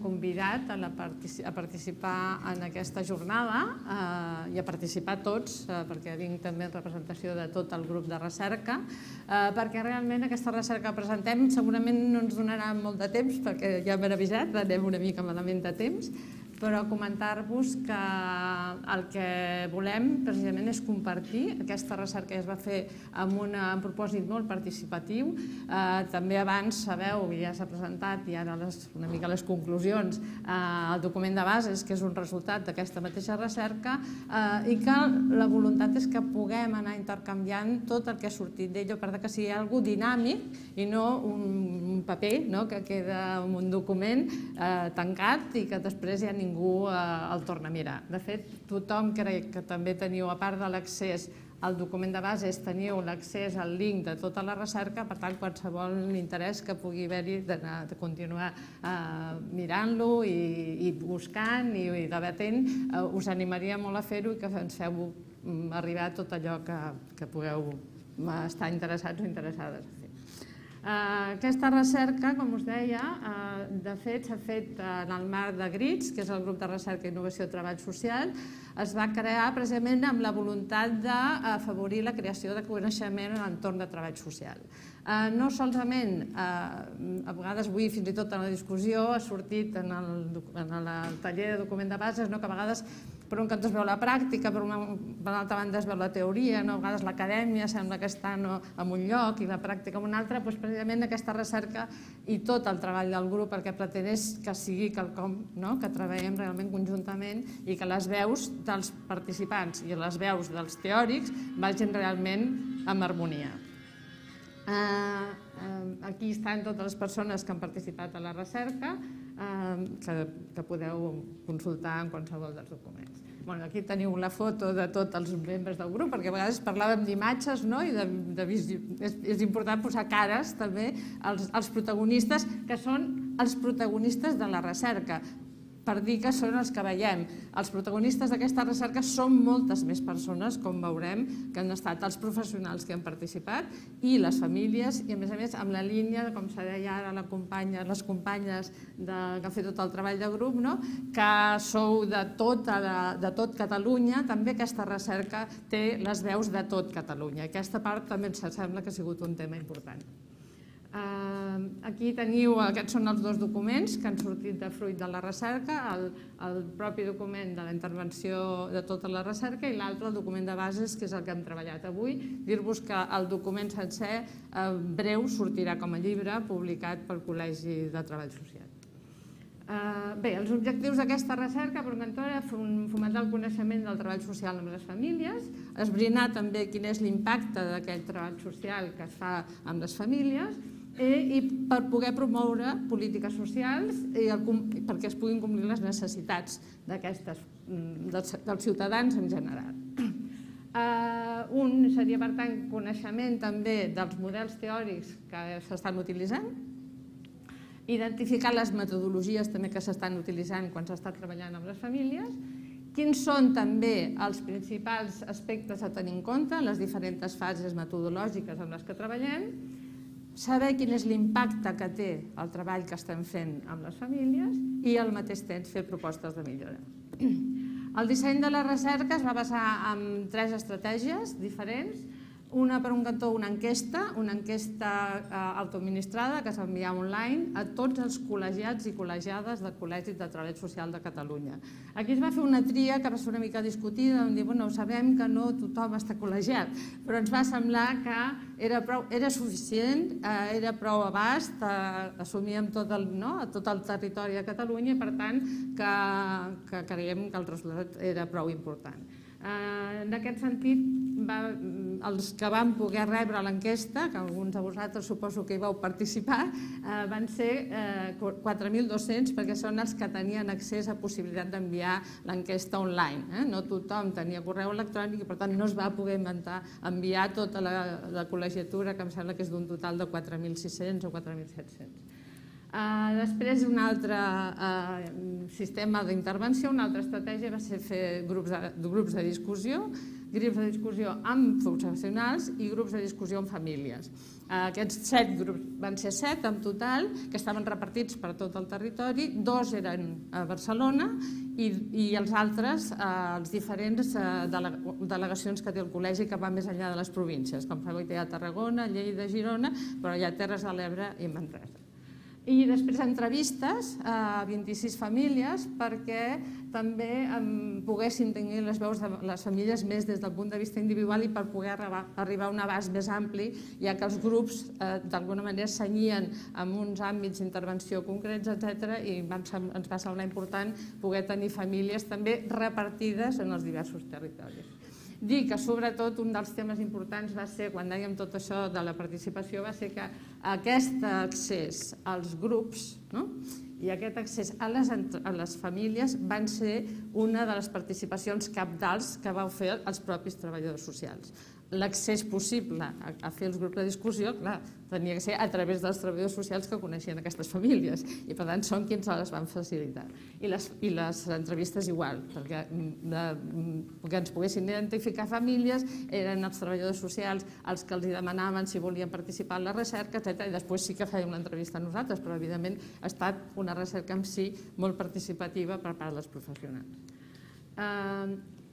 Convidat a participar en aquesta jornada i a participar tots, perquè vinc també en representació de tot el grup de recerca, perquè realment aquesta recerca que presentem segurament no ens donarà molt de temps, perquè ja m'he avisat, anem una mica malament de temps, però comentar-vos que el que volem precisament és compartir. Aquesta recerca es va fer amb un propòsit molt participatiu. També abans sabeu, ja s'ha presentat, i ara una mica les conclusions, el document de bases, que és un resultat d'aquesta mateixa recerca, i que la voluntat és que puguem anar intercanviant tot el que ha sortit d'ell, per que sigui alguna cosa dinàmic i no un paper que queda en un document tancat i que després ja ningú el torna a mirar. De fet, tothom crec que també teniu, a part de l'accés al document de bases, teniu l'accés al link de tota la recerca, per tant, qualsevol interès que pugui haver-hi de continuar mirant-lo i buscant i debatent, us animaria molt a fer-ho i que ens feu arribar tot allò que pugueu estar interessats o interessades a fer. Aquesta recerca, com us deia, de fet s'ha fet en el marc de GRITS, que és el grup de recerca, innovació i treball social. Es va crear precisament amb la voluntat d'afavorir la creació de coneixement en l'entorn de treball social. No solament, a vegades avui fins i tot en la discussió ha sortit en el taller de document de bases, que a vegades per un cantó es veu la pràctica, per l'altra banda es veu la teoria, a vegades l'acadèmia sembla que està en un lloc i la pràctica en un altre. Precisament aquesta recerca i tot el treball del grup el que pretén és que sigui quelcom que treballem realment conjuntament i que les veus dels participants i les veus dels teòrics vagin realment en harmonia. Aquí estan totes les persones que han participat a la recerca, que podeu consultar en qualsevol dels documents. Aquí teniu la foto de tots els membres del grup, perquè a vegades parlàvem d'imatges i és important posar cares també als protagonistes, que són els protagonistes de la recerca, per dir que són els que veiem. Els protagonistes d'aquesta recerca són moltes més persones, com veurem, que han estat els professionals que han participat i les famílies, i a més amb la línia, com se deia ara les companyes que han fet tot el treball de grup, que sou de tot Catalunya, també aquesta recerca té les veus de tot Catalunya. Aquesta part també ens sembla que ha sigut un tema important. Aquí teniu, aquests són els dos documents que han sortit de fruit de la recerca, el propi document de la intervenció de tota la recerca i l'altre, el document de bases, que és el que hem treballat avui. Dir-vos que el document sencer breu sortirà com a llibre publicat pel Col·legi de Treball Social. Bé, els objectius d'aquesta recerca, per un cantó, era fomentar el coneixement del treball social amb les famílies, esbrinar també quin és l'impacte d'aquest treball social que es fa amb les famílies i per poder promoure polítiques socials perquè es puguin complir les necessitats dels ciutadans en general. Un seria, per tant, coneixement també dels models teòrics que s'estan utilitzant, identificar les metodologies també que s'estan utilitzant quan s'està treballant amb les famílies, quins són també els principals aspectes a tenir en compte en les diferents fases metodològiques en les que treballem, saber quin és l'impacte que té el treball que estem fent amb les famílies i al mateix temps fer propostes de millora. El disseny de la recerca es va basar en 3 estratègies diferents. Una, per un cantó, una enquesta autoadministrada que s'envia online a tots els col·legiats i col·legiades del Col·legi de Treball Social de Catalunya. Aquí es va fer una tria que va ser una mica discutida, on dir, sabem que no tothom està col·legiat, però ens va semblar que era suficient, era prou abast, assumíem tot el territori de Catalunya i per tant que creiem que el resultat era prou important. En aquest sentit, els que van poder rebre l'enquesta, que alguns de vosaltres suposo que hi vau participar, van ser 4.200 perquè són els que tenien accés a possibilitat d'enviar l'enquesta online. No tothom tenia correu electrònic i per tant no es va poder enviar tota la col·legiatura, que em sembla que és d'un total de 4.600 o 4.700. Després, un altre sistema d'intervenció, una altra estratègia va ser fer grups de discussió grups de discussió amb professionals i grups de discussió amb famílies. Aquests 7 grups van ser 7 en total, que estaven repartits per tot el territori, 2 eren a Barcelona i els altres, les diferents delegacions que té el col·legi que van més enllà de les províncies, com sabeu, hi ha Tarragona, Lleida, Girona, però hi ha Terres de l'Ebre i Manresa. I després entrevistes a 26 famílies perquè també poguessin tenir les veus de les famílies més des del punt de vista individual i per poder arribar a un abast més ampli, ja que els grups d'alguna manera s'anyien amb uns àmbits d'intervenció concrets, etc. i ens va semblar important poder tenir famílies també repartides en els diversos territoris. Dir que sobretot un dels temes importants va ser, quan dèiem tot això de la participació, va ser que aquest accés als grups i aquest accés a les famílies van ser una de les participacions cabdals que vau fer els propis treballadors socials. L'accés possible a fer els grups de discussió, clar, tenia que ser a través dels treballadors socials que coneixien aquestes famílies i per tant són qui ens les van facilitar. I les entrevistes igual, perquè ens poguessin identificar famílies eren els treballadors socials els que els demanaven si volien participar en la recerca, etc. I després sí que fèiem l'entrevista a nosaltres, però evidentment ha estat una recerca en si molt participativa per part dels professionals.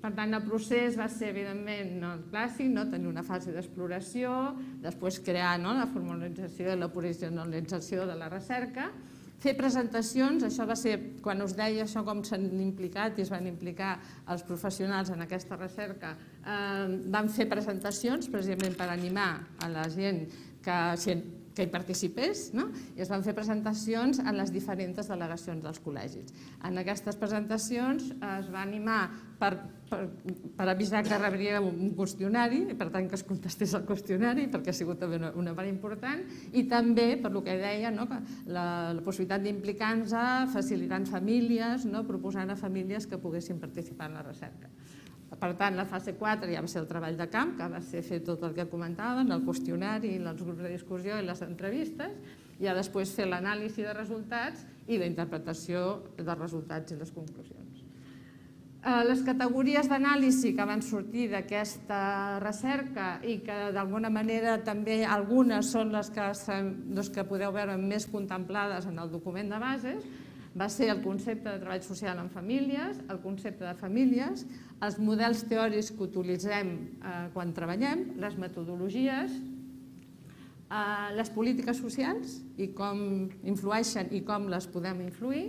Per tant, el procés va ser, evidentment, el clàssic, tenir una fase d'exploració, després crear la formalització i la professionalització de la recerca, fer presentacions, això va ser, quan us deia això com s'han implicat i es van implicar els professionals en aquesta recerca, van fer presentacions precisament per animar a la gent que hi participés, i es van fer presentacions en les diferents delegacions dels col·legis. En aquestes presentacions es va animar per avisar que rebria un qüestionari, i per tant que es contestés el qüestionari, perquè ha sigut també una part important, i també, per el que deia, la possibilitat d'implicar-nos, facilitant famílies, proposant a famílies que poguessin participar en la recerca. Per tant, la fase 4 ja va ser el treball de camp, que va ser fer tot el que comentaven, el qüestionari, els grups de discussió i les entrevistes, i ja després fer l'anàlisi de resultats i la interpretació dels resultats i les conclusions. Les categories d'anàlisi que van sortir d'aquesta recerca i que d'alguna manera també algunes són les que podeu veure més contemplades en el document de bases, va ser el concepte de treball social en famílies, el concepte de famílies, els models teòrics que utilitzem quan treballem, les metodologies, les polítiques socials i com influeixen i com les podem influir,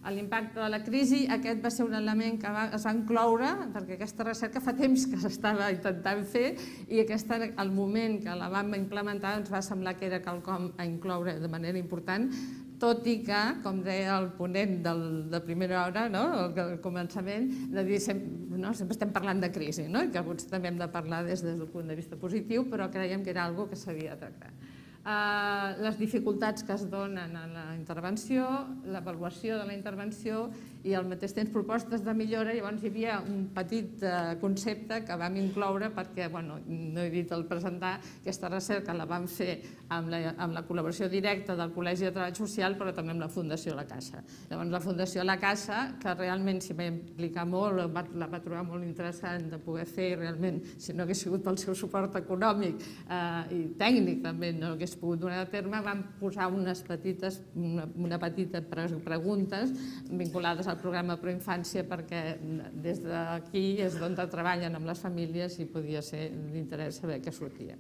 l'impacte de la crisi. Aquest va ser un element que es va incloure perquè aquesta recerca fa temps que s'estava intentant fer i el moment que la vam implementar ens va semblar que era quelcom a incloure de manera important, tot i que, com deia el ponent de primera hora, al començament, de dir sempre estem parlant de crisi, i que alguns també hem de parlar des del punt de vista positiu, però creiem que era una cosa que s'havia de tractar. Les dificultats que es donen a la intervenció, l'avaluació de la intervenció i al mateix temps propostes de millora. Llavors hi havia un petit concepte que vam incloure perquè, no he dit al presentar, aquesta recerca la vam fer amb la col·laboració directa del Col·legi de Treball Social, però també amb la Fundació La Caixa. Llavors la Fundació La Caixa, que realment s'hi va implicar molt, la va trobar molt interessant de poder fer, i realment, si no hagués sigut pel seu suport econòmic i tècnic també no hagués pogut donar a terme, vam posar una petita preguntes vinculades al programa Proinfància perquè des d'aquí és d'on treballen amb les famílies i podia ser d'interès saber què sortia.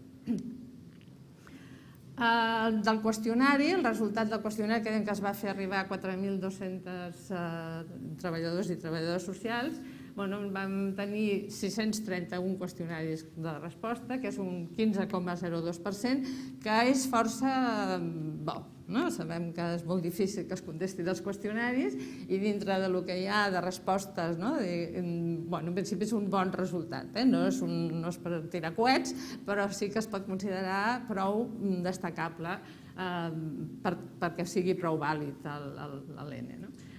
Del qüestionari, el resultat del qüestionari que es va fer arribar a 4.200 treballadors i treballadores socials, vam tenir 631 qüestionaris de resposta, que és un 15,02%, que és força bo. Sabem que és molt difícil que es contesti dels qüestionaris i dintre del que hi ha de respostes, en principi és un bon resultat. No és per tirar coets, però sí que es pot considerar prou destacable perquè sigui prou vàlid l'ENE.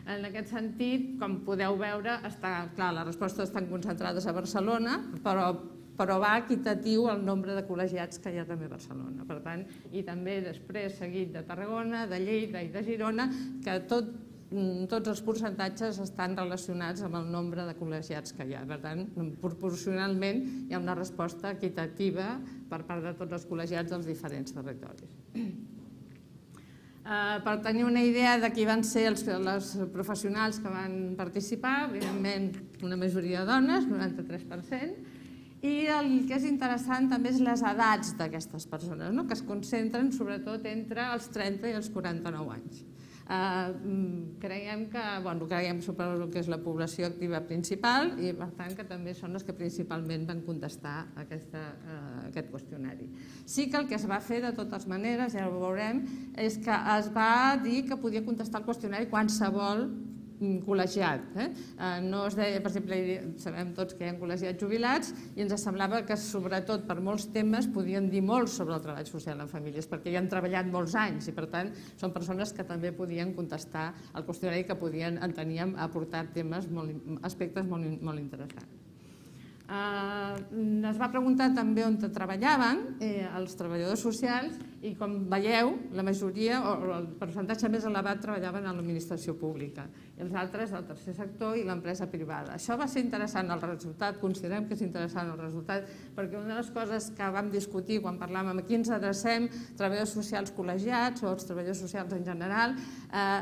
En aquest sentit, com podeu veure, les respostes estan concentrades a Barcelona, però va equitatiu el nombre de col·legiats que hi ha també a Barcelona. Per tant, i també després seguit de Tarragona, de Lleida i de Girona, que tot tots els percentatges estan relacionats amb el nombre de col·legiats que hi ha. Per tant, proporcionalment hi ha una resposta equitativa per part de tots els col·legiats dels diferents territoris. Per tenir una idea de qui van ser els professionals que van participar, evidentment una majoria de dones, 93%, i el que és interessant també és les edats d'aquestes persones, que es concentren sobretot entre els 30 i els 49 anys. Creiem suposo que és la població activa principal i per tant que també són les que principalment van contestar aquest qüestionari. Sí que el que es va fer de totes maneres, ja ho veurem, és que es va dir que podia contestar el qüestionari qualsevol col·legiat. No es deia, per exemple, sabem tots que hi ha col·legiats jubilats i ens semblava que sobretot per molts temes podien dir molt sobre el treball social en famílies perquè hi han treballat molts anys i per tant són persones que també podien contestar el qüestionari que podien, enteníem, aportar aspectes molt interessants. Es va preguntar també on treballaven els treballadors socials i com veieu la majoria o el percentatge més elevat treballaven a l'administració pública i els altres al tercer sector i l'empresa privada. Això va ser interessant el resultat, considerem que és interessant el resultat perquè una de les coses que vam discutir quan parlàvem a qui ens adrecem, treballadors socials col·legiats o els treballadors socials en general,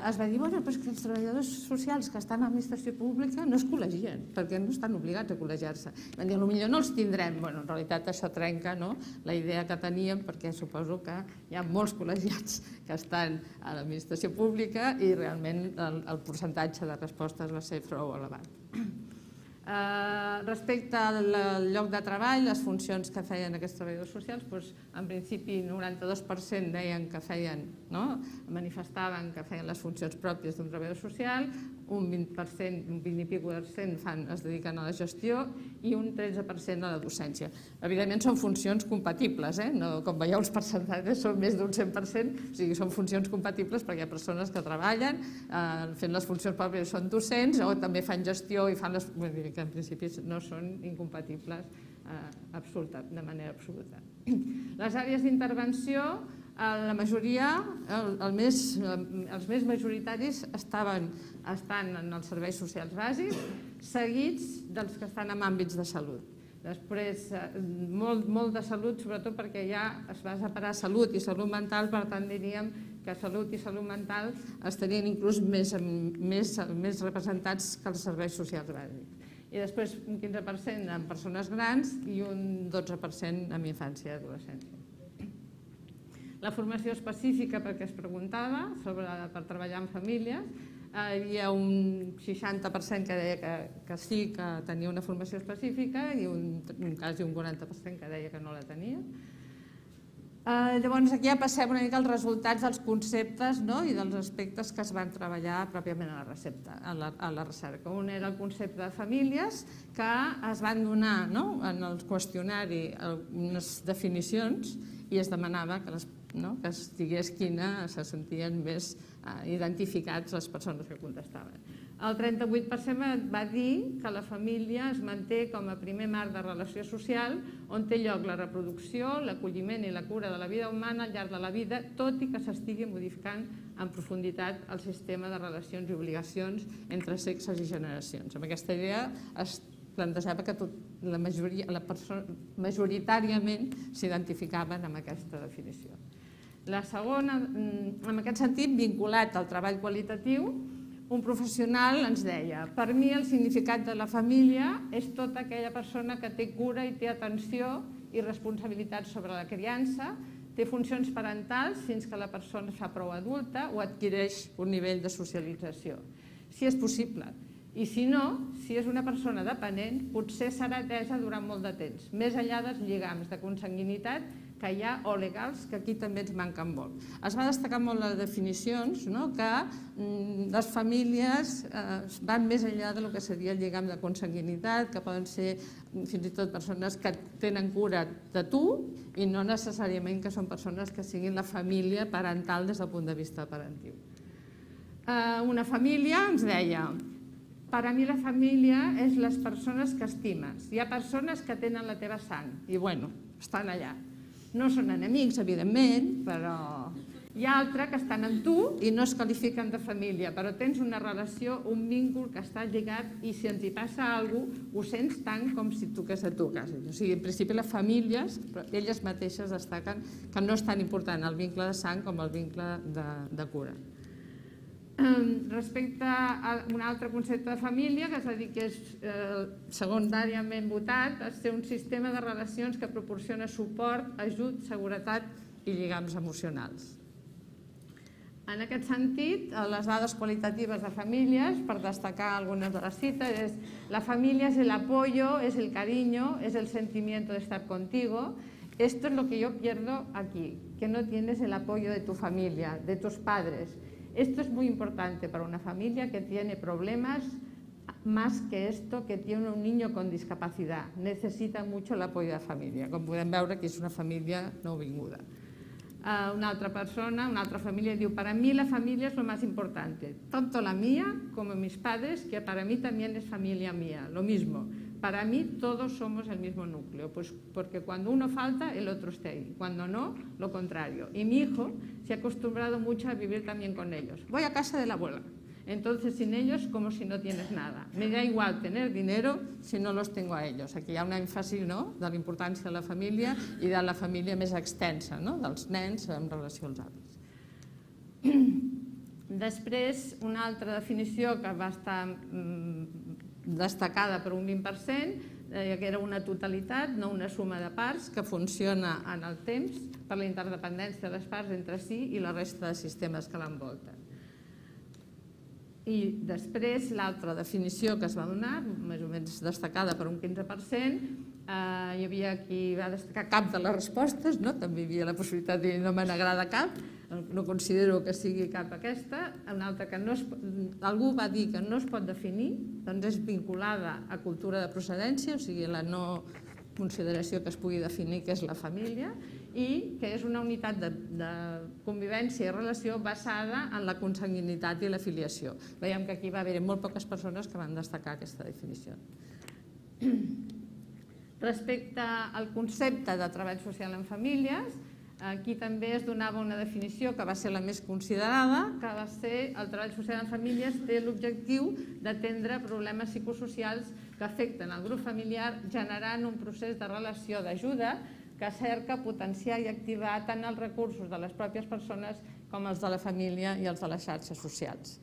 es va dir però és que els treballadors socials que estan a l'administració pública no es col·legien perquè no estan obligats a col·legiar-se. Van dir, potser no els tindrem. En realitat això trenca la idea que teníem perquè suposo que hi ha molts col·legiats que estan a l'administració pública i realment el percentatge de respostes va ser prou elevat. Respecte al lloc de treball, les funcions que feien aquests treballadors socials, en principi 92% deien que feien, manifestaven que feien les funcions pròpies d'un treballador social, un 20%, un 20 i escaig es dediquen a la gestió i un 13% a la docència. Evidentment són funcions compatibles, com veieu els percentatges són més d'un 100%, o sigui, són funcions compatibles perquè hi ha persones que treballen fent les funcions pròpies, són docents o també fan gestió i fan les... que en principi no són incompatibles de manera absoluta. Les àrees d'intervenció, la majoria, els més majoritaris estan en els serveis socials bàsics, seguits dels que estan en àmbits de salut. Després, molt de salut, sobretot perquè ja es va separar salut i salut mental, per tant diríem que salut i salut mental estarien inclús més representats que els serveis socials bàsics. I després un 15% en persones grans i un 12% en infància i adolescència. La formació específica, perquè es preguntava, per treballar en famílies, hi havia un 60% que deia que sí que tenia una formació específica i quasi un 40% que deia que no la tenia. Llavors aquí ja passem una mica als resultats dels conceptes i dels aspectes que es van treballar pròpiament a la recerca. Un era el concepte de famílies, que es van donar en el qüestionari unes definicions i es demanava que es digués quina se sentien més identificats les persones que contestaven. El 38% va dir que la família es manté com a primer marc de relació social on té lloc la reproducció, l'acolliment i la cura de la vida humana al llarg de la vida, tot i que s'estigui modificant en profunditat el sistema de relacions i obligacions entre sexes i generacions. Amb aquesta idea es plantejava que la majoria, majoritàriament s'identificaven amb aquesta definició. La segona, en aquest sentit, vinculat al treball qualitatiu, un professional ens deia: per mi el significat de la família és tota aquella persona que té cura i té atenció i responsabilitat sobre la criança, té funcions parentals fins que la persona es fa prou adulta o adquireix un nivell de socialització, si és possible. I si no, si és una persona dependent, potser serà atesa durant molt de temps, més enllà dels lligams de consanguinitat que hi ha o legals, que aquí també ens manquen molt. Es va destacar molt les definicions, que les famílies van més enllà del que seria el lligam de consanguinitat, que poden ser fins i tot persones que tenen cura de tu i no necessàriament que són persones que siguin la família parental des del punt de vista parentiu. Una família ens deia: per a mi la família és les persones que estimes. Hi ha persones que tenen la teva sang i, bueno, estan allà. No són enemics, evidentment, però Hi ha altres que estan amb tu i no es qualifiquen de família, però tens una relació, un víncle que està lligat i si ens hi passa alguna cosa, ho sents tant com si toqués a tu quasi. O sigui, en principi les famílies, elles mateixes destaquen que no és tan important el vincle de sang com el vincle de cura. Respecte a un altre concepte de família, que és a dir que és secundàriament votat, és ser un sistema de relacions que proporciona suport, ajut, seguretat i lligams emocionals. En aquest sentit, les dades qualitatives de famílies, per destacar algunes de les cites, és la familia es el apoyo, es el cariño, es el sentimiento de estar contigo. Esto es lo que yo pierdo aquí, que no tienes el apoyo de tu familia, de tus padres. Esto es muy importante para una familia que tiene problemas, más que esto, que tiene un niño con discapacidad. Necesita mucho el apoyo de la familia. Com podem veure, que és una família nouvinguda. Una altra persona, una altra família diu: para mí la familia es lo más importante, tanto la mía como mis padres, que para mí también es familia mía, lo mismo. Para mí todos somos el mismo núcleo, pues porque cuando uno falta, el otro está ahí, cuando no, lo contrario. Y mi hijo se ha acostumbrado mucho a vivir también con ellos. Voy a casa de la abuela, entonces sin ellos como si no tienes nada. Me da igual tener dinero si no los tengo a ellos. Aquí hi ha un èmfasi, no?, de la importància de la família i de la família més extensa, no?, dels nens en relació als avis. Després, una altra definició que va estar destacada per un 20%, que era una totalitat, no una suma de parts, que funciona en el temps per la interdependència de les parts entre si i la resta de sistemes que l'envolten. I després, l'altra definició que es va donar, més o menys destacada per un 15%, hi havia qui va destacar cap de les respostes, també hi havia la possibilitat de dir no me n'agrada cap, no considero que sigui cap aquesta. Una altra que algú va dir que no es pot definir, doncs és vinculada a cultura de procedència, o sigui, la no consideració que es pugui definir què és la família, i que és una unitat de convivència i relació basada en la consanguinitat i la filiació. Veiem que aquí va haver molt poques persones que van destacar aquesta definició. Respecte al concepte de treball social en famílies, aquí també es donava una definició que va ser la més considerada, que va ser el treball social en famílies té l'objectiu d'atendre problemes psicosocials que afecten el grup familiar generant un procés de relació d'ajuda que cerca potenciar i activar tant els recursos de les pròpies persones com els de la família i els de les xarxes socials.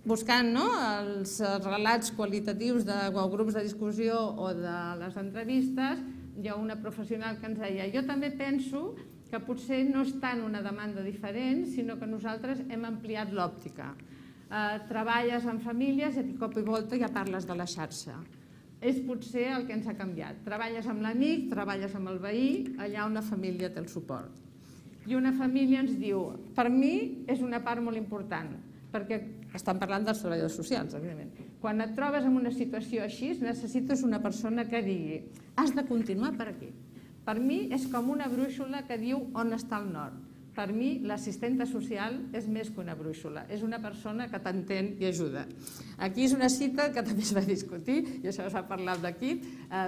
Buscant els relats qualitatius de grups de discussió o de les entrevistes, hi ha una professional que ens deia: jo també penso que potser no és tant una demanda diferent, sinó que nosaltres hem ampliat l'òptica. Treballes en famílies i de cop i volta ja parles de la xarxa. És potser el que ens ha canviat. Treballes amb l'amic, treballes amb el veí, allà una família té el suport. I una família ens diu: per mi és una part molt important, perquè estan parlant dels treballadors socials, evidentment. Quan et trobes en una situació així, necessites una persona que digui: has de continuar per aquí. Per mi és com una brúixola que diu on està el nord. Per mi, l'assistenta social és més que una brúixola, és una persona que t'entén i ajuda. Aquí és una cita que també es va discutir, i això s'ha parlat d'aquí,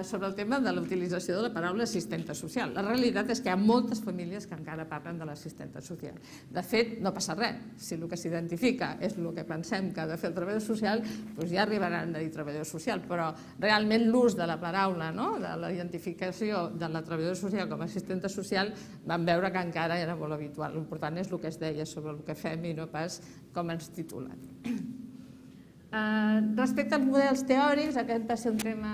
sobre el tema de la utilització de la paraula assistenta social. La realitat és que hi ha moltes famílies que encara parlen de l'assistenta social. De fet, no passa res. Si el que s'identifica és el que pensem que ha de fer el treballador social, doncs ja arribaran a dir treballador social, però realment l'ús de la paraula, de la identificació de la treballadora social com a assistenta social, vam veure que encara era molt habitual. L'important és el que es deia sobre el que fem i no pas com ens titulen. Respecte als models teòrics, aquest va ser un tema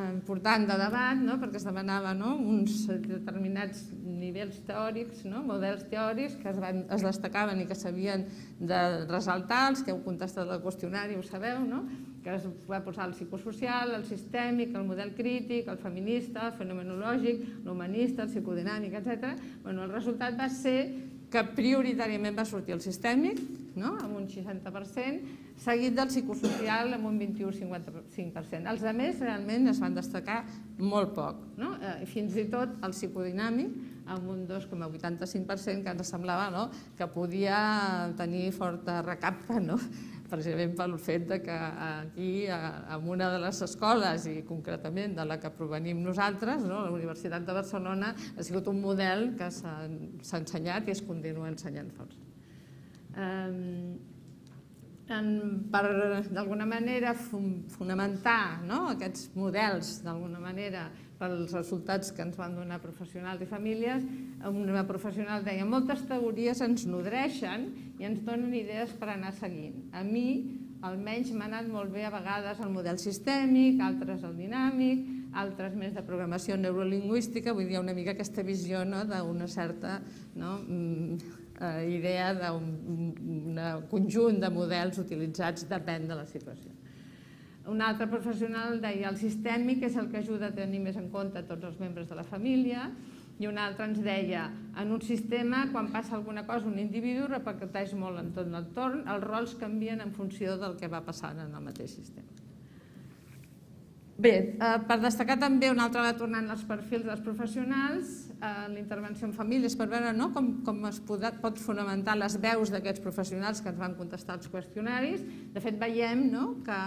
important de debat, perquè es demanava uns determinats nivells teòrics, models teòrics que es destacaven i que s'havien de ressaltar. Els que heu contestat el qüestionari ho sabeu, que es va posar el psicosocial, el sistèmic, el model crític, el feminista, el fenomenològic, l'humanista, el psicodinàmic, etc. El resultat va ser que prioritàriament va sortir el sistèmic, amb un 60%, seguit del psicosocial amb un 21-55%. Els altres realment es van destacar molt poc, fins i tot el psicodinàmic amb un 2,85%, que ens semblava que podia tenir forta recapta, precisament pel fet que aquí, en una de les escoles, i concretament de la que provenim nosaltres, la Universitat de Barcelona, ha sigut un model que s'ha ensenyat i es continua ensenyant força. Per, d'alguna manera, fonamentar aquests models, d'alguna manera, pels resultats que ens van donar professionals i famílies, una professional deia: moltes teories ens nodreixen i ens donen idees per anar seguint. A mi, almenys, m'ha anat molt bé a vegades el model sistèmic, altres el dinàmic, altres més de programació neurolingüística. Vull dir, una mica aquesta visió d'una certa idea d'un conjunt de models utilitzats, depèn de la situació. Un altre professional deia: el sistèmic és el que ajuda a tenir més en compte tots els membres de la família, i un altre ens deia: en un sistema, quan passa alguna cosa, un individu repercuteix molt en tot l'entorn, els rols canvien en funció del que va passant en el mateix sistema. Bé, per destacar també un altre, tornant als perfils dels professionals, la intervenció en famílies, per veure com es pot fonamentar les veus d'aquests professionals que ens van contestar els qüestionaris. De fet, veiem que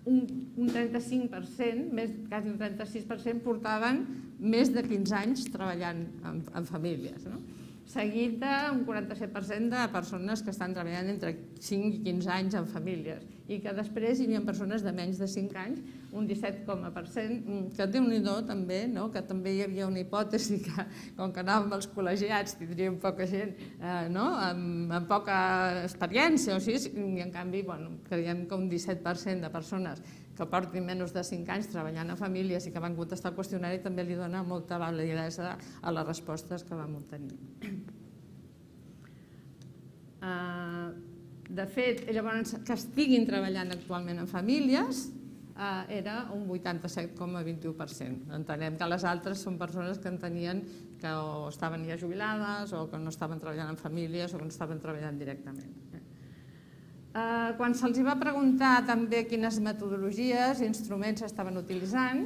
un 35%, quasi un 36%, portaven més de 15 anys treballant en famílies, seguit d'un 47% de persones que estan treballant entre 5 i 15 anys en famílies, i que després hi havia persones de menys de 5 anys, un 17%, que Déu-n'hi-do també, que també hi havia una hipòtesi que, com que anàvem als col·legiats, tindríem poca gent amb poca experiència, i en canvi creiem que un 17% de persones que portin menys de 5 anys treballant a famílies i que van contestar el qüestionari també li dona molta validesa a les respostes que vam obtenir. De fet, llavors, que estiguin treballant actualment en famílies era un 87,21%. Entenem que les altres són persones que entenien que o estaven ja jubilades o que no estaven treballant en famílies o que no estaven treballant directament. Quan se'ls va preguntar també quines metodologies i instruments estaven utilitzant,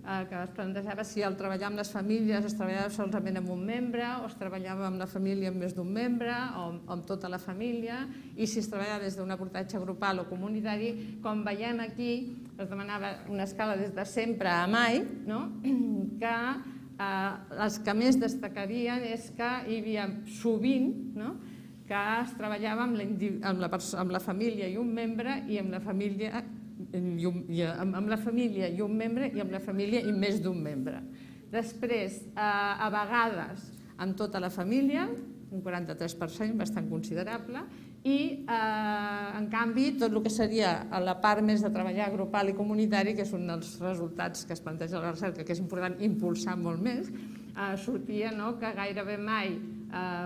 que es plantejava si al treballar amb les famílies es treballava solament amb un membre o es treballava amb la família amb més d'un membre o amb tota la família, i si es treballava des d'un abordatge grupal o comunitari. Com veiem aquí, es demanava una escala des de sempre a mai, que les que més destacarien és que hi havia sovint que es treballava amb la família i un membre, i amb la família i un membre, i amb la família i més d'un membre. Després, a vegades, amb tota la família, un 43%, bastant considerable, i, en canvi, tot el que seria la part més de treballar grupal i comunitari, que és un dels resultats que es planteja a la recerca, que és important impulsar molt més, sortia que gairebé mai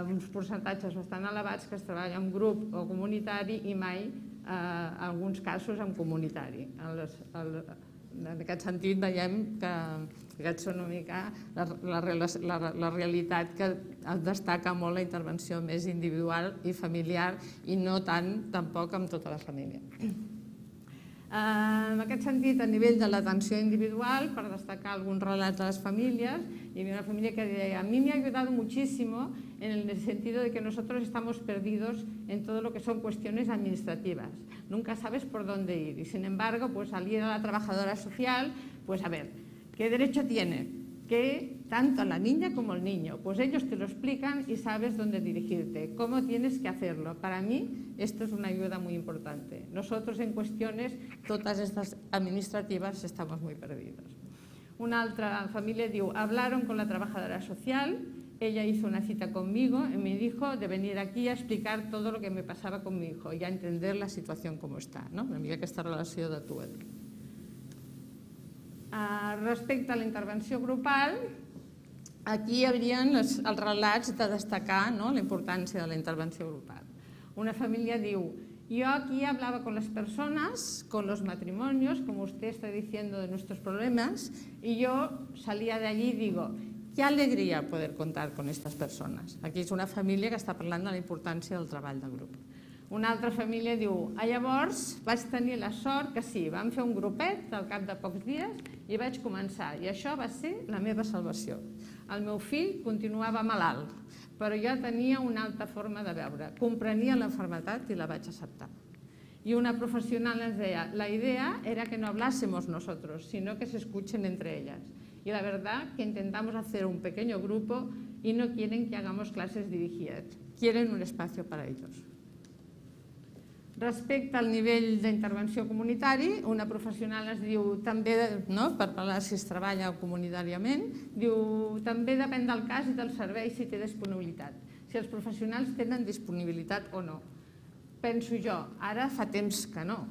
uns percentatges bastant elevats que es treballa en grup o comunitari i mai, en alguns casos, en comunitari. En aquest sentit, veiem que aquesta és una mica la realitat, que destaca molt la intervenció més individual i familiar i no tant, tampoc, amb tota la família. En aquest sentit, a nivell de l'atenció individual, per destacar alguns relats de les famílies, hi havia una familia que deia: a mí me ha ayudado muchísimo en el sentido de que nosotros estamos perdidos en todo lo que son cuestiones administrativas. Nunca sabes por dónde ir. Y sin embargo, pues al ir a la trabajadora social, pues a ver, ¿qué derecho tiene? Que tanto la niña como el niño, pues ellos te lo explican y sabes dónde dirigirte, cómo tienes que hacerlo. Para mí esto es una ayuda muy importante. Nosotros en cuestiones, todas estas administrativas, estamos muy perdidos. Una otra familia diu: hablaron con la trabajadora social, ella hizo una cita conmigo y me dijo de venir aquí a explicar todo lo que me pasaba con mi hijo y a entender la situación como está, una mica aquesta relació de tu a tu. Respecte a la intervenció grupal, aquí hi haurien els relats de destacar la importància de la intervenció grupal. Una família diu: yo aquí hablaba con las personas, con los matrimonios, como usted está diciendo de nuestros problemas, y yo salía de allí y digo: qué alegría poder contar con estas personas. Aquí és una família que està parlant de la importància del treball de grup. Una altra família diu: llavors vaig tenir la sort que sí, vam fer un grupet al cap de pocs dies i vaig començar, i això va ser la meva salvació. El meu fill continuava malalt, però jo tenia una altra forma de veure, comprenia l'enfermetat i la vaig acceptar. Y una profesional nos decía, la idea era que no hablásemos nosotros, sino que se escuchen entre ellas. Y la verdad que intentamos hacer un pequeño grupo y no quieren que hagamos clases dirigidas, quieren un espacio para ellos. Respecte al nivell d'intervenció comunitari, una professional es diu, també, per parlar si es treballa comunitàriament, diu, també depèn del cas i del servei si té disponibilitat, si els professionals tenen disponibilitat o no. Penso jo, ara fa temps que no,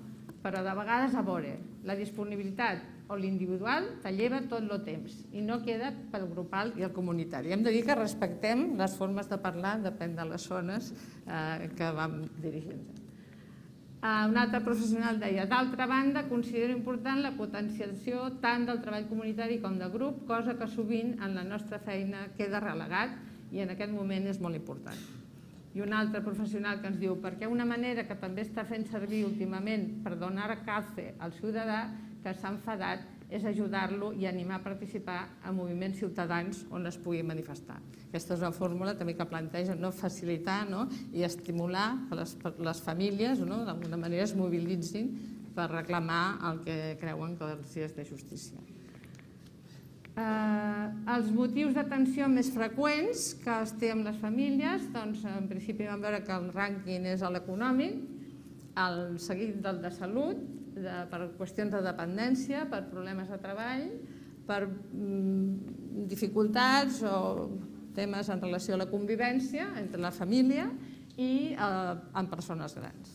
però de vegades a veure, la disponibilitat o l'individual te lleva tot el temps i no queda pel grupal i el comunitari. Hem de dir que respectem les formes de parlar, depèn de les zones que vam dirigint. Un altre professional deia, d'altra banda, considero important la potenciació tant del treball comunitari com de grup, cosa que sovint en la nostra feina queda relegat i en aquest moment és molt important. I un altre professional que ens diu, perquè una manera que també està fent servir últimament per donar calce al ciutadà que s'ha enfadat és ajudar-lo i animar a participar en moviments ciutadans on es pugui manifestar. Aquesta és una fórmula també que planteja facilitar i estimular que les famílies d'alguna manera es mobilitzin per reclamar el que creuen que els és de justícia. Els motius d'atenció més freqüents que es té amb les famílies, doncs en principi vam veure que el rànquing és l'econòmic, el seguit del de salut, per qüestions de dependència, per problemes de treball, per dificultats o temes en relació a la convivència entre la família i amb persones grans.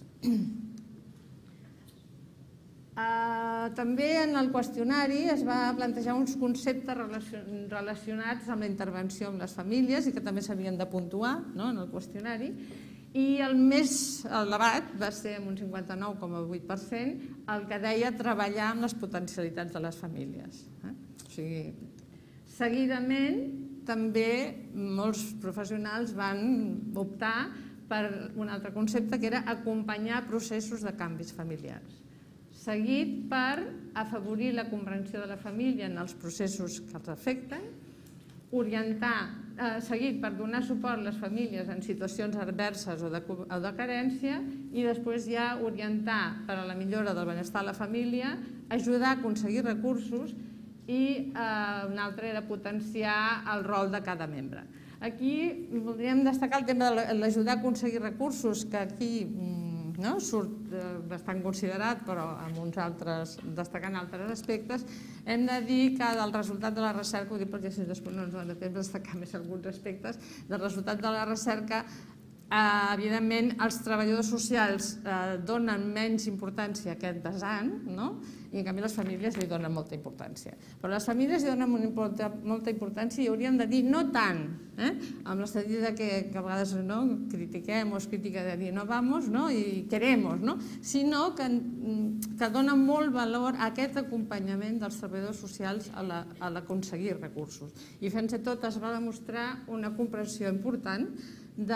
També en el qüestionari es va plantejar uns conceptes relacionats amb la intervenció amb les famílies i que també s'havien de puntuar en el qüestionari, i el més elevat va ser amb un 59,8% el que deia treballar amb les potencialitats de les famílies. Seguidament, també molts professionals van optar per un altre concepte que era acompanyar processos de canvis familiars, seguit per afavorir la comprensió de la família en els processos que els afecten, seguit per donar suport a les famílies en situacions adverses o de carència i després ja orientar per a la millora del benestar de la família, ajudar a aconseguir recursos i un altre era potenciar el rol de cada membre. Aquí voldríem destacar el tema de l'ajudar a aconseguir recursos, que aquí surt bastant considerat, però destacant altres aspectes. Hem de dir que del resultat de la recerca, ho dic perquè si després no ens dona temps de destacar més alguns aspectes, del resultat de la recerca, evidentment els treballadors socials donen menys importància a aquest vessant, i en canvi les famílies li donen molta importància. Però les famílies li donen molta importància i hauríem de dir no tant, amb el sentit que a vegades critiquem o es critica de dir no vamos i queremos, sinó que donen molt valor a aquest acompanyament dels treballadors socials a l'aconseguir recursos. I fins i tot es va demostrar una comprensió important que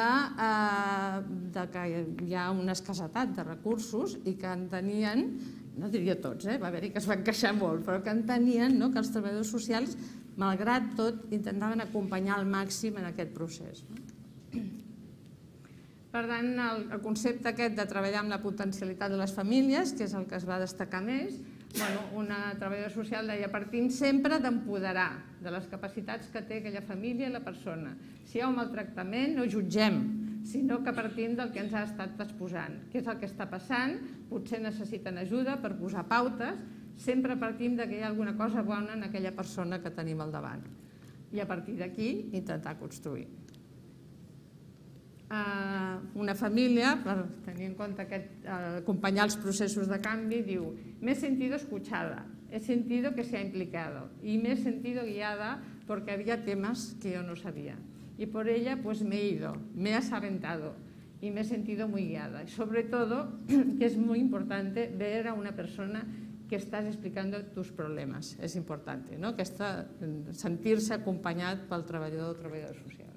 hi ha una escassetat de recursos i que entenien, no diria tots, va haver-hi que es van queixar molt, però que entenien que els treballadors socials, malgrat tot, intentaven acompanyar al màxim en aquest procés. Per tant, el concepte aquest de treballar amb la potencialitat de les famílies, que és el que es va destacar més, una treballadora social deia partim sempre d'empoderar de les capacitats que té aquella família i la persona. Si hi ha un maltractament, no jutgem, sinó que partim del que ens ha estat exposant. Què és el que està passant? Potser necessiten ajuda per posar pautes, sempre partim que hi ha alguna cosa bona en aquella persona que tenim al davant. I a partir d'aquí intentar construir. Una família, per tenir en compte acompanyar els processos de canvi, diu me he sentido escuchada, he sentido que se ha implicado y me he sentido guiada porque había temas que yo no sabía. Y por ella pues me he ido, me he asaventado y me he sentido muy guiada. Y sobre todo, que es muy importante ver a una persona que estàs explicant tus problemes. És important, sentir-se acompanyat pel treballador o treballadora social.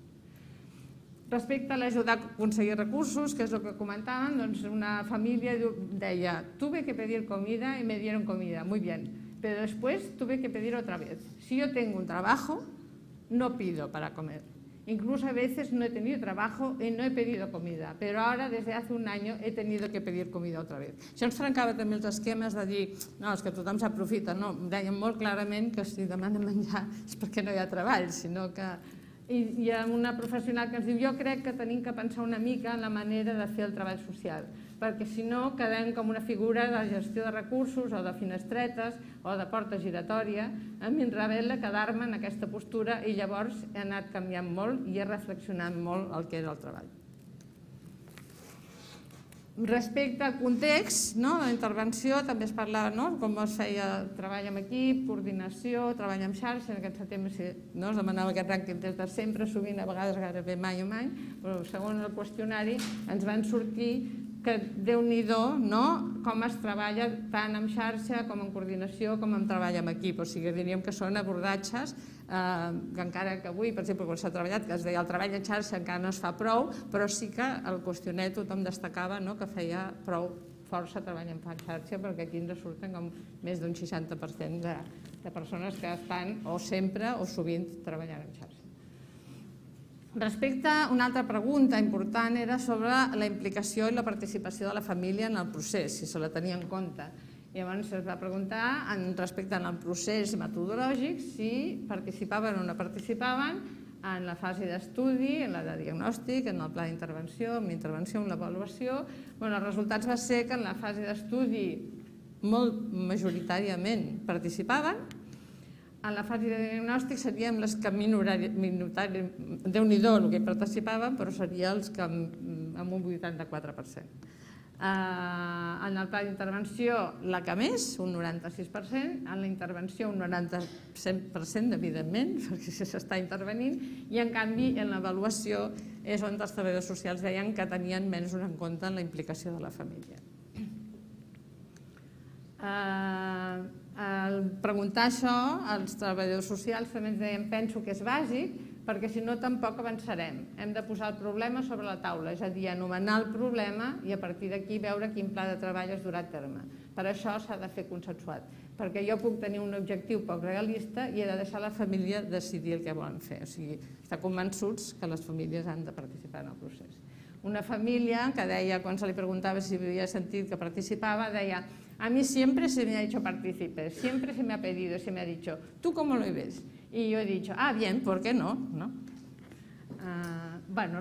Respecte a l'ajudar a aconseguir recursos, que és el que comentàvem, doncs una família deia tuve que pedir comida y me dieron comida, muy bien, pero después tuve que pedir otra vez. Si yo tengo un trabajo, no pido para comer. Incluso a veces no he tenido trabajo y no he pedido comida, pero ahora desde hace un año he tenido que pedir comida otra vez. Això ens trencava també els esquemes de dir no, és que tothom s'aprofita, no, deien molt clarament que si demanen menjar és perquè no hi ha treball, sinó que... I hi ha una professional que ens diu jo crec que tenim que pensar una mica en la manera de fer el treball social, perquè si no quedem com una figura de gestió de recursos o de finestretes o de porta giratòria. A mi em revela quedar-me en aquesta postura i llavors he anat canviant molt i he reflexionat molt el que era el treball. Respecte al context, de la intervenció, també es parlava com es feia treball en equip, coordinació, treball en xarxa. En aquest setembre es demanava aquest rànquing des de sempre, sovint, a vegades gairebé mai o mai, però segons el qüestionari ens van sortir que Déu-n'hi-do com es treballa tant en xarxa com en coordinació com en treball en equip. O sigui, diríem que són abordatges que encara que avui, per exemple, quan s'ha treballat, que es deia el treball en xarxa encara no es fa prou, però sí que al qüestioner tothom destacava que feia prou força treball en xarxa, perquè aquí ens surten com més d'un 60% de persones que estan o sempre o sovint treballant en xarxa. Respecte a una altra pregunta important era sobre la implicació i la participació de la família en el procés, si se la tenia en compte. Llavors es va preguntar respecte al procés metodològic si participaven o no participaven en la fase d'estudi, en la de diagnòstic, en el pla d'intervenció, en l'intervenció, en l'avaluació. Els resultats va ser que en la fase d'estudi molt majoritàriament participaven. En la fase de diagnòstic seríem les que minoritàriament, Déu-n'hi-do el que participaven, però serien els que amb un 84%. En el pla d'intervenció la que més, un 96%, en la intervenció un 97%, evidentment, perquè s'està intervenint, i en canvi en l'avaluació és on els treballadors socials deien que tenien menys en compte en la implicació de la família. Al preguntar això, els treballadors socials també ens deien penso que és bàsic, perquè si no tampoc avançarem. Hem de posar el problema sobre la taula, és a dir, anomenar el problema i a partir d'aquí veure quin pla de treball es durà a terme. Per això s'ha de fer consensuat, perquè jo puc tenir un objectiu poc realista i he de deixar la família decidir el que volen fer. O sigui, estar convençuts que les famílies han de participar en el procés. Una família que deia, quan se li preguntava si havia sentit que participava, deia a mí siempre se me ha hecho partícipe, siempre se me ha pedido, se me ha dicho, ¿tú cómo lo ves? Y yo he dicho, bien, ¿por qué no?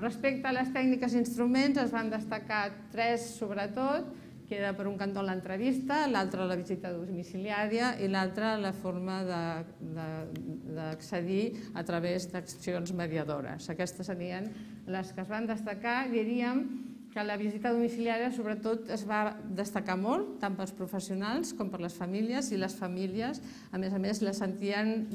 Respecte a les tècniques i instruments es van destacar 3 sobretot, que era per un cantó l'entrevista, l'altre la visita domiciliària i l'altre la forma d'accedir a través d'accions mediadores. Aquestes serien les que es van destacar. Diríem que la visita domiciliària sobretot es va destacar molt, tant pels professionals com per les famílies, i les famílies, a més, la sentien,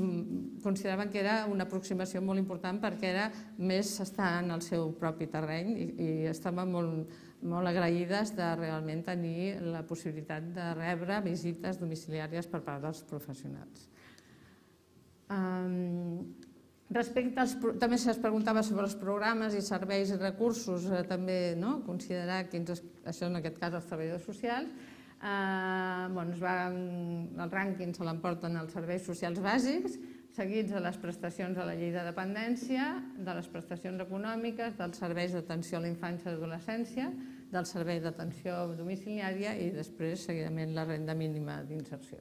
consideraven que era una aproximació molt important perquè era més estar en el seu propi terreny i estaven molt agraïdes de realment tenir la possibilitat de rebre visites domiciliàries per part dels professionals. També es preguntava sobre els programes i serveis i recursos, també considerar quins, això en aquest cas els treballadors socials. El rànquing se l'emporten els serveis socials bàsics, seguits de les prestacions de la llei de dependència, de les prestacions econòmiques, dels serveis d'atenció a la infància i adolescència, del servei d'atenció domiciliària i després, seguidament, la renda mínima d'inserció.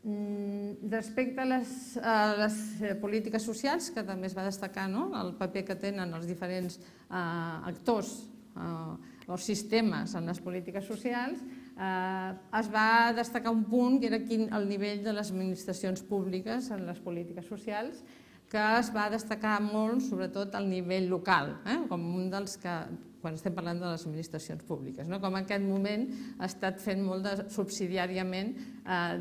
Respecte a les polítiques socials, que també es va destacar el paper que tenen els diferents actors o sistemes en les polítiques socials, es va destacar un punt que era el nivell de les administracions públiques en les polítiques socials, que es va destacar molt, sobretot al nivell local, com un dels que, quan estem parlant de les administracions públiques, com en aquest moment ha estat fent molt subsidiàriament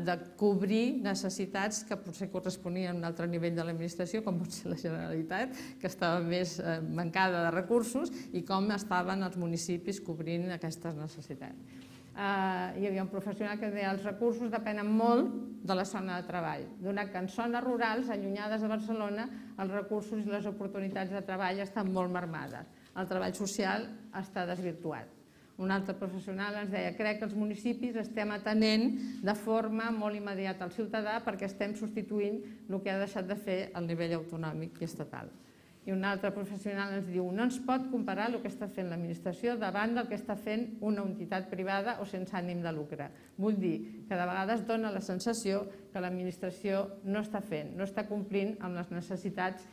de cobrir necessitats que potser corresponien a un altre nivell de l'administració, com pot ser la Generalitat, que estava més mancada de recursos, i com estaven els municipis cobrint aquestes necessitats. Hi havia un professional que deia els recursos depenen molt de la zona de treball, donat que en zones rurals, allunyades de Barcelona, els recursos i les oportunitats de treball estan molt marmades. El treball social està desvirtuat. Un altre professional ens deia crec que els municipis estem atenent de forma molt immediata al ciutadà perquè estem substituint el que ha deixat de fer el nivell autonòmic i estatal. I un altre professional ens diu no ens pot comparar el que està fent l'administració davant del que està fent una entitat privada o sense ànim de lucre. Vull dir que de vegades dona la sensació que l'administració no està fent, no està complint amb les necessitats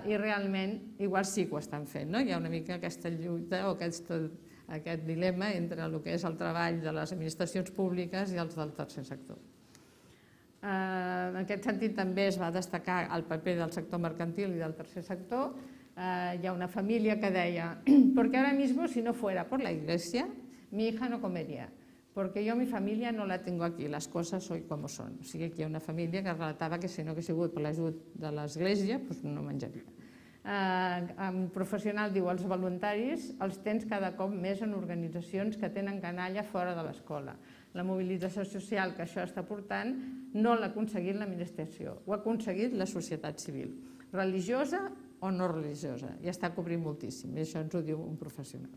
i realment igual sí que ho estan fent. Hi ha una mica aquesta lluita o aquest dilema entre el que és el treball de les administracions públiques i els del tercer sector. En aquest sentit també es va destacar el paper del sector mercantil i del tercer sector. Hi ha una família que deia «Porque ahora mismo si no fuera por la iglesia, mi hija no comería, porque yo mi familia no la tengo aquí, las cosas hoy como son». O sigui, aquí hi ha una família que relatava que si no hagués sigut per l'ajut de l'església no menjaria. Un professional diu els voluntaris els tens cada cop més en organitzacions que tenen canalla fora de l'escola. La mobilització social que això està portant no l'ha aconseguit l'administració, ho ha aconseguit la societat civil, religiosa o no religiosa, i està cobrint moltíssim, i això ens ho diu un professional.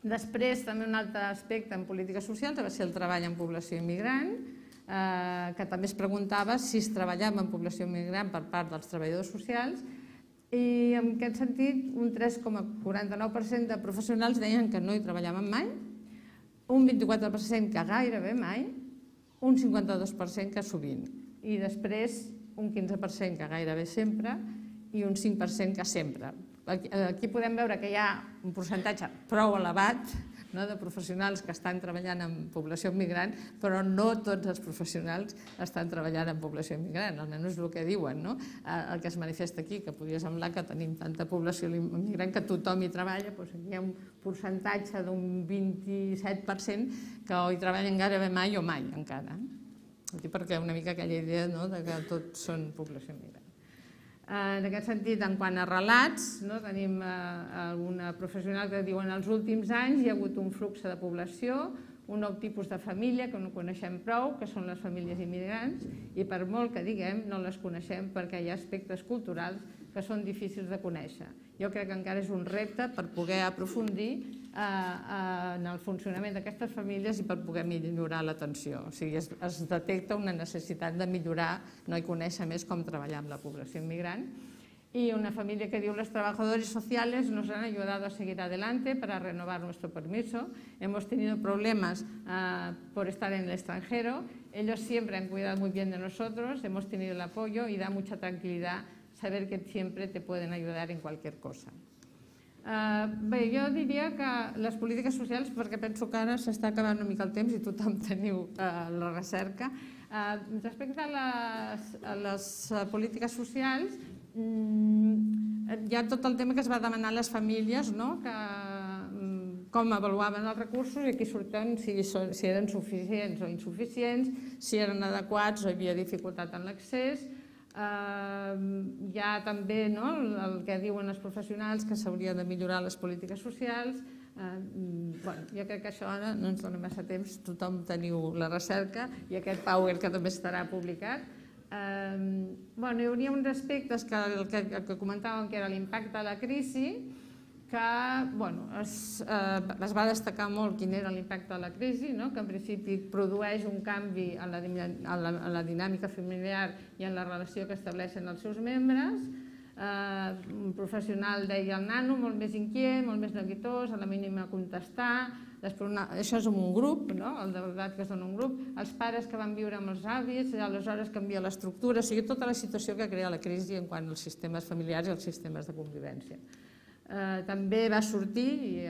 Després, també un altre aspecte en polítiques socials va ser el treball en població immigrant, que també es preguntava si es treballava en població immigrant per part dels treballadors socials, i en aquest sentit un 3,49% de professionals deien que no hi treballaven mai, un 24% que gairebé mai, un 52% que sovint, i després un 15% que gairebé sempre i un 5% que sempre. Aquí podem veure que hi ha un percentatge prou elevat de professionals que estan treballant en població immigrant, però no tots els professionals estan treballant en població immigrant, almenys és el que diuen, el que es manifesta aquí, que podria semblar que tenim tanta població immigrant que tothom hi treballa, doncs aquí hi ha un percentatge d'un 27% que o hi treballen gairebé mai o mai encara, perquè una mica aquella idea que tots són població immigrant. En aquest sentit, en quant a relats, tenim alguna professional que diu en els últims anys hi ha hagut un flux de població, un nou tipus de família que no coneixem prou, que són les famílies immigrants, i per molt que diguem no les coneixem perquè hi ha aspectes culturals que són difícils de conèixer. Jo crec que encara és un repte per poder aprofundir en el funcionament d'aquestes famílies i per poder millorar l'atenció. O sigui, es detecta una necessitat de millorar i conèixer més com treballar amb la població immigrant. Y una familia que diu, los trabajadores sociales nos han ayudado a seguir adelante para renovar nuestro permiso. Hemos tenido problemas por estar en el extranjero. Ellos siempre han cuidado muy bien de nosotros, hemos tenido el apoyo y da mucha tranquilidad saber que siempre te pueden ayudar en cualquier cosa. Bé, jo diria que les polítiques socials, perquè penso que ara s'està acabant una mica el temps i tothom teniu la recerca, respecte a les polítiques socials, hi ha tot el tema que es va demanar a les famílies, com avaluaven els recursos i aquí surten si eren suficients o insuficients, si eren adequats o hi havia dificultat en l'accés. Hi ha també el que diuen els professionals que s'hauria de millorar les polítiques socials. Jo crec que això ara no ens dona massa temps, tothom teniu la recerca i aquest PowerPoint que també estarà publicat. Hi hauria uns aspectes que comentàvem que era l'impacte de la crisi, que es va destacar molt quin era l'impacte de la crisi, que en principi produeix un canvi en la dinàmica familiar i en la relació que estableixen els seus membres. Un professional deia el nano molt més inquiet, molt més neguitós, a la mínima contestar. Això és un grup, el de veritat que és un grup. Els pares que van viure amb els avis, aleshores canvia l'estructura, o sigui, tota la situació que crea la crisi en quant als sistemes familiars i als sistemes de convivència. També va sortir, i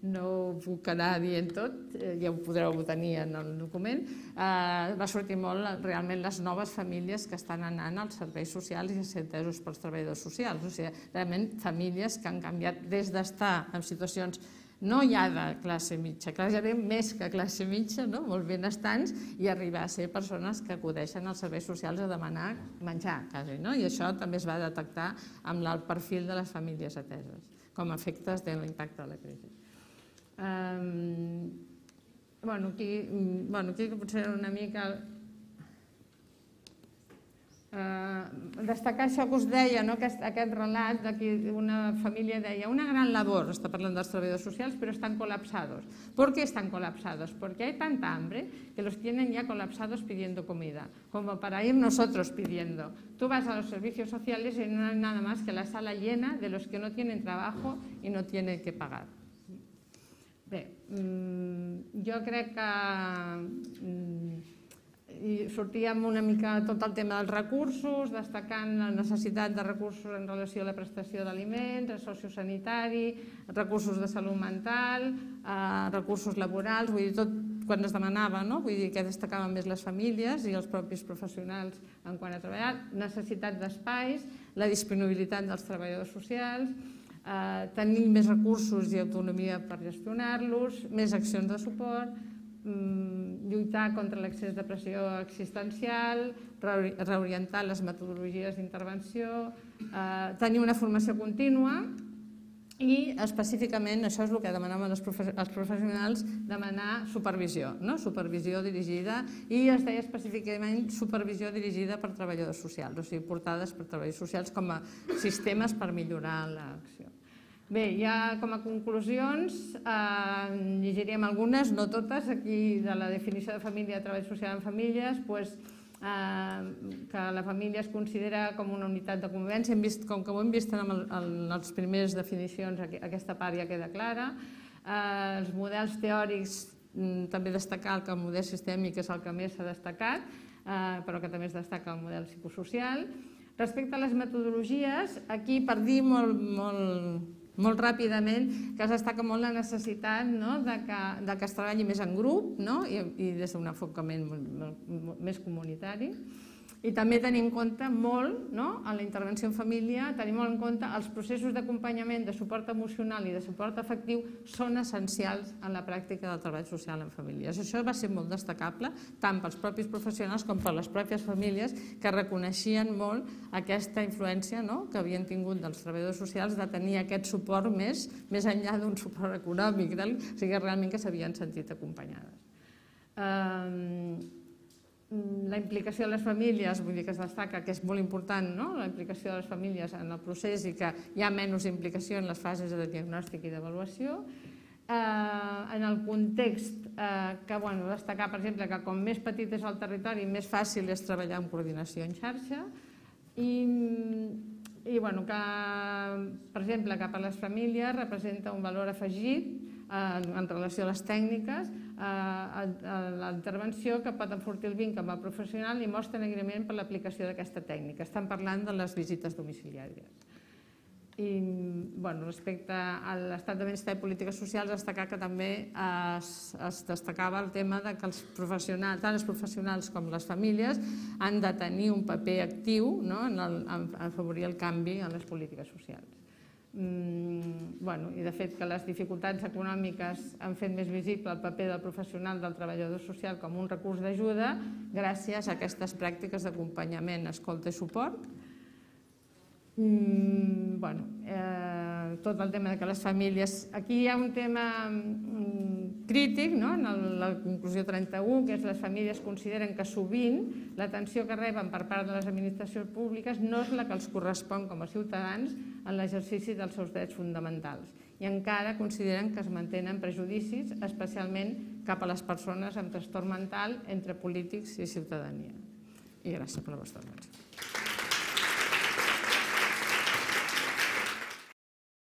no ho puc anar dient tot, ja ho podreu tenir en el document, va sortir molt realment les noves famílies que estan anant als serveis socials i a ser atesos pels treballadors socials. O sigui, realment famílies que han canviat des d'estar en situacions no ja de classe mitja, gairebé més que classe mitja, molt benestants, i arribar a ser persones que acudeixen als serveis socials a demanar menjar, quasi. I això també es va detectar amb el perfil de les famílies ateses, com a efectes de l'impacte de la crisi. Aquí potser una mica... destacar això que us deia, aquest relat de que una família deia una gran labor, està parlant dels treballadors socials, pero están colapsados. ¿Por qué están colapsados? Porque hay tanta hambre que los tienen ya colapsados pidiendo comida, como para ir nosotros pidiendo. Tú vas a los servicios sociales y no hay nada más que la sala llena de los que no tienen trabajo y no tienen que pagar. Bé, jo crec que sortíem una mica tot el tema dels recursos, destacant la necessitat de recursos en relació a la prestació d'aliments, el sociosanitari, recursos de salut mental, recursos laborals, vull dir, tot quan es demanava, vull dir que destacaven més les famílies i els propis professionals en quant a treballar, necessitat d'espais, la disponibilitat dels treballadors socials, tenir més recursos i autonomia per gestionar-los, més accions de suport, lluitar contra l'excés de pressió existencial, reorientar les metodologies d'intervenció, tenir una formació contínua i específicament, això és el que demanaven els professionals, demanar supervisió, supervisió dirigida, i es deia específicament supervisió dirigida per treballadors socials, o sigui, portades per treballadors socials com a sistemes per millorar l'acció. Bé, ja com a conclusions, llegiríem algunes, no totes, aquí de la definició de família, de treball social en famílies, que la família es considera com una unitat de convivència, com que ho hem vist en les primeres definicions, aquesta part ja queda clara. Els models teòrics, també destacar que el model sistèmic és el que més s'ha destacat, però que també es destaca el model psicosocial. Respecte a les metodologies, aquí per dir molt ràpidament que es destaca molt la necessitat que es treballi més en grup i des d'un enfocament més comunitari. I també tenim en compte molt, a la intervenció en família, tenim molt en compte els processos d'acompanyament, de suport emocional i de suport afectiu són essencials en la pràctica del treball social en famílies. Això va ser molt destacable, tant pels propis professionals com per les pròpies famílies, que reconeixien molt aquesta influència que havien tingut dels treballadors socials de tenir aquest suport més enllà d'un suport econòmic, o sigui, realment que s'havien sentit acompanyades. La implicació de les famílies, vull dir que es destaca que és molt important, la implicació de les famílies en el procés i que hi ha menys implicació en les fases de diagnòstic i d'avaluació. En el context, destacar, per exemple, que com més petit és el territori, més fàcil és treballar en coordinació en xarxa i, per exemple, que per a les famílies representa un valor afegit en relació a les tècniques, a la intervenció que pot enfortir el vincle amb el professional i mostra agraïment per l'aplicació d'aquesta tècnica. Estan parlant de les visites domiciliàries. I respecte a l'estat de benestar i polítiques socials, destacar que també es destacava el tema que els professionals, tant els professionals com les famílies, han de tenir un paper actiu en afavorir el canvi en les polítiques socials. I de fet que les dificultats econòmiques han fet més visible el paper del professional del treballador social com un recurs d'ajuda gràcies a aquestes pràctiques d'acompanyament, escolta i suport. Tot el tema que les famílies... Aquí hi ha un tema crític, en la conclusió 31, que és que les famílies consideren que sovint l'atenció que reben per part de les administracions públiques no és la que els correspon com a ciutadans en l'exercici dels seus drets fonamentals i encara consideren que es mantenen prejudicis, especialment cap a les persones amb trastorn mental entre polítics i ciutadania. I gràcies per la vostra atenció.